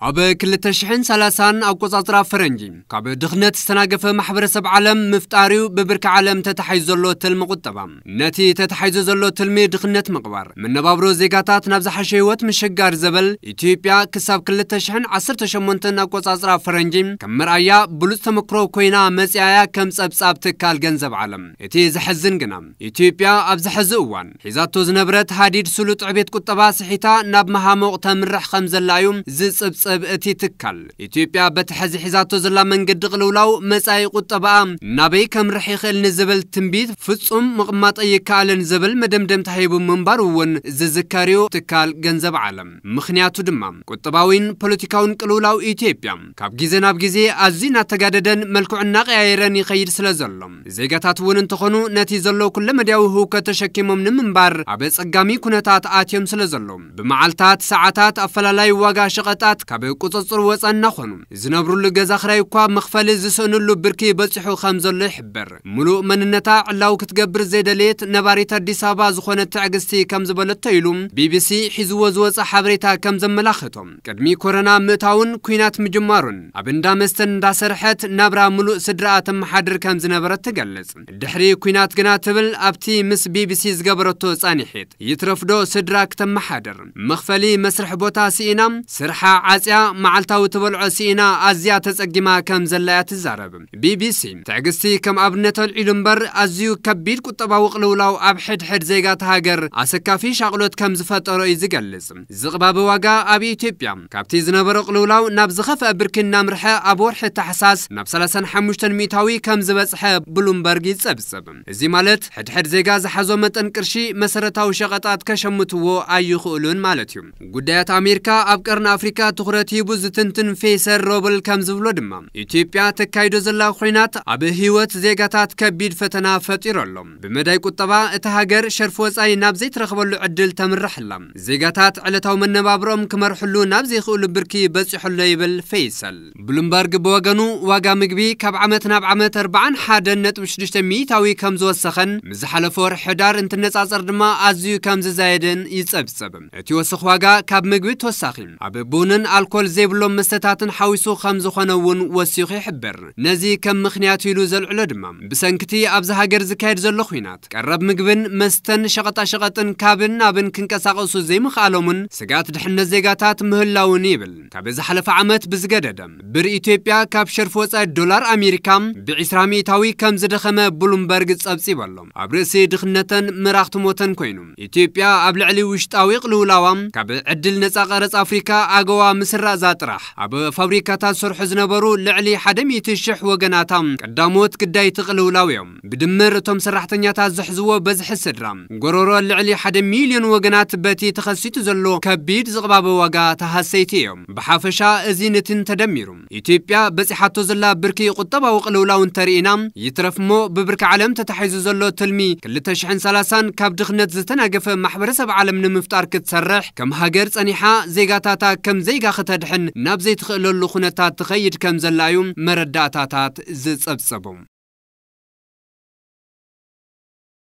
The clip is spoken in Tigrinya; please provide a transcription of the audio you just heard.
ኣብ ክልተ ሽሕን ሰላሳን ኣቆጻጽራ ፈረንጂ፣ ካብ ድኽነት ዝተናገፈ ማሕበረሰብ ዓለም ምፍጣር እዩ ብብርኪ ዓለም ተታሒዙ ዘሎ ትልሚ ቁጠባ። ነቲ ተታሒዙ ዘሎ ትልሚ ድኽነት ምቕባር፣ መነባብሮ ዜጋታት ናብ ዝሓሸ ህይወት ምሽጋር ዘበል፣ ኢትዮጵያ ክሳብ ክልተ ሽሕን ዓሰርተ ሸሞንተን ኣቆጻጽራ ፈረንጂ ከም መርኣያ ብሉጽ ተመክሮ ኮይና መጽኣያ ከም ጸብጻብ ትካል ገንዘብ ዓለም። እቲ ዘሕዝን ግና፣ ኢትዮጵያ ኣብዚ ሕዚ እዋን ሒዛቶ ዝነበረት ሃዲድ ስሉጥ ዕቤት ቁጠባ ስሒታ ናብ መሃሞቕ ተምርሕ ከም ዘላ እዩ ዝጽብጽብ እቲ ትካል። ኢትዮጵያ በቲ ሕዚ ሒዛቶ ዘላ መንገዲ ቅልውላው መጻኢ ቁጠባኣ ናበይ ከምርሕ ይኽእል ንዝብል ትንቢት ፍጹም ምቕማጥ ኣይከኣልን ዝብል መደምደምታ ሂቡ ምንባሩ እውን ዝዝከር እዩ ትካል ገንዘብ ዓለም። ምኽንያቱ ድማ ቁጠባዊን ፖለቲካውን ቅልውላው ኢትዮጵያ ካብ ግዜ ናብ ግዜ ኣዝዩ እናተጋደደን መልክዑ እናቀያየረን ይኸይድ ስለ ዘሎ፣ ዜጋታት እውን እንተኾኑ ነቲ ዘሎ ኩለመዳያዊ ህውከት ተሸኪሞም ንምንባር ኣብ ኣጸጋሚ ኩነታት ኣትዮም ስለ ዘለዉ፣ ብመዓልታት፣ ሰዓታት ኣፈላላይ ዋጋ ሸቐጣት ካብ ቁጽጽር ወጻኢ እናኾኑ፣ ዝነብሩሉ ገዛ ክራይ እኳ መኽፈሊ ዝስእንሉ ብርኪ በጺሑ ከም ዘሎ ይሕበር። ምሉእ መንነታ ዕላዊ ክትገብር ዘይደለየት ነባሪት ኣዲስ ኣበባ ዝኾነት ትዕግስቲ ከም ዝበለቶ ኢሉ ቢቢሲ ሒዝዎ ዝወጸ ሓበሬታ ከም ዘመላኽቶ፣ ቅድሚ ኮሮና ምእታውን ኲናት ምጅማሩን ኣብ እንዳ መስተን እንዳሰርሐት ናብራ ምሉእ ስድራኣ ተመሓድር ከም ዝነበረት ትገልጽ። ድሕሪ ኲናት ግና ትብል ኣብቲ ምስ ቢቢሲ ዝገበረቶ ጻኒሒት፣ ይትረፍዶ ስድራ ክተመሓድር፣ መኽፈሊ መስርሕ ቦታ ስኢና፣ ስርሓ ዓጽያ፣ መዓልታዊ ትበልዖ ስኢና ኣዝያ ተጸጊማ ከም ዘላ እያ ትዛረብ። ቢቢሲ ትዕግስቲ ከም ኣብነት ኣልዒሉ እምበር፣ ኣዝዩ ከቢድ ቁጠባዊ ቅልውላው ኣብ ሕድሕድ ዜጋት ሃገር ኣሰካፊ ሻቕሎት ከም ዝፈጠሮ እዩ ዝገልጽ። ዝቕባበ ዋጋ ኣብ ኢትዮጵያ ካብቲ ዝነበሮ ቅልውላው ናብ ዝኸፍአ ብርኪ እናምርሐ፣ ኣብ ወርሒ ታሕሳስ ናብ ሰላሳን ሓሙሽተን ሚእታዊ ከም ዝበጽሐ ብሉምበርግ ይጸብጽብ። እዚ ማለት ሕድሕድ ዜጋ ዝሓዞ መጠን ቅርሺ መሰረታዊ ሸቐጣት ከሸምትዎ ኣይኽእሉን ማለት እዩ። ጉዳያት ኣሜሪካ ኣብ ቀርኒ ኣፍሪካ ትኹረት ሂቡ ዝትንትን ፌሰር ሮብል ከም ዝብሎ ድማ፣ ኢትዮጵያ ተካይዶ ዘላ ኹናት ኣብ ህይወት ዜጋታት ከቢድ ፈተና ፈጢሩ ኣሎ። ብመዳይ ቁጠባ እታ ሃገር ሸርፊ ወጻኢ ናብ ዘይትረኽበሉ ዕድል ተምርሕ ኣላ። ዜጋታት ዕለታዊ መነባብሮም ክመርሕሉ ናብ ዘይኽእሉ ብርኪ በጺሑ ኣሎ ይብል ፌይሰል። ብሉምበርግ ብወገኑ፣ ዋጋ ምግቢ ካብ ዓመት ናብ ዓመት ኣርባዓን ሓደን ነጥቢ ሽዱሽተ ሚእታዊ ከም ዝወሰኸን፣ ምስ ዝሓለፈ ወርሒ ሕዳር እንትነጻጸር ድማ ኣዝዩ ከም ዝዛየደን ይጸብጸብ። እቲ ወሰኽ ዋጋ ካብ ምግቢ ተወሳኺ፣ ኣብ ቡንን ኣልኮል ዘይብሎም መስተታትን ሓዊሱ ከም ዝኾነ እውን ወሲኹ ይሕብር። ነዚ ከም ምኽንያት ኢሉ ዘልዕሎ ድማ፣ ብሰንክቲ ኣብዚ ሃገር ዝካየድ ዘሎ ኹናት፣ ቀረብ ምግብን መስተን ሸቐጣሸቐጥን ካብን ናብን ክንቀሳቐሱ ዘይምኽኣሎምን ስግኣት ድሕነት ዜጋታት ምህላውን ይብል። ካብ ዝሓለፈ ዓመት ብዝገደደ፣ ብር ኢትዮጵያ ካብ ሸርፊ ወጻኢ ዶላር ኣሜሪካ ብዒስራ ሚእታዊ ከም ዝደኸመ ብሉምበርግ ጸብጺቡ ኣሎ። ኣብ ርእሲ ድኽነተን ምራኽቲ ሞተን ኮይኑ፣ ኢትዮጵያ ኣብ ልዕሊ ውሽጣዊ ቅልውላዋ ካብ ዕድል ነጻ ቀረጽ ኣፍሪካ ኣገዋ ምስራዛ ጥራሕ፣ ኣብ ፋብሪካታት ዝሰርሑ ዝነበሩ ልዕሊ ሓደ ሚእቲ ሽሕ ወገናታ ቀዳሞት ግዳይቲ ቅልውላው እዮም። ብድምር እቶም ሰራሕተኛታት ዝሕዝዎ በዝሒ ስድራ፣ ጎሮሮ ልዕሊ ሓደ ሚልዮን ወገናት በቲ ተኸሲቱ ዘሎ ከቢድ ዝቕባበ ዋጋ ተሃሰይቲ እዮም። ብሓፈሻ እዚን እትን ተደሚሩ፣ ኢትዮጵያ በጺሓቶ ዘላ ብርኪ ቁጠባዊ ቅልውላው እንተርኢና፣ ይትረፍ እሞ ብብርኪ ዓለም ተታሒዙ ዘሎ ትልሚ ክልተ ሽሕን ሰላሳን ካብ ድኽነት ዝተናገፈ ማሕበረሰብ ዓለም ንምፍጣር ክትሰርሕ፣ ከም ሃገር ጸኒሓ ዜጋታታ ከም ዜጋ ክተድሕን ናብ ዘይትኽእለሉ ኩነታት ትኸይድ ከም ዘላ እዩ መረዳእታታት ዝጸብጸቡ።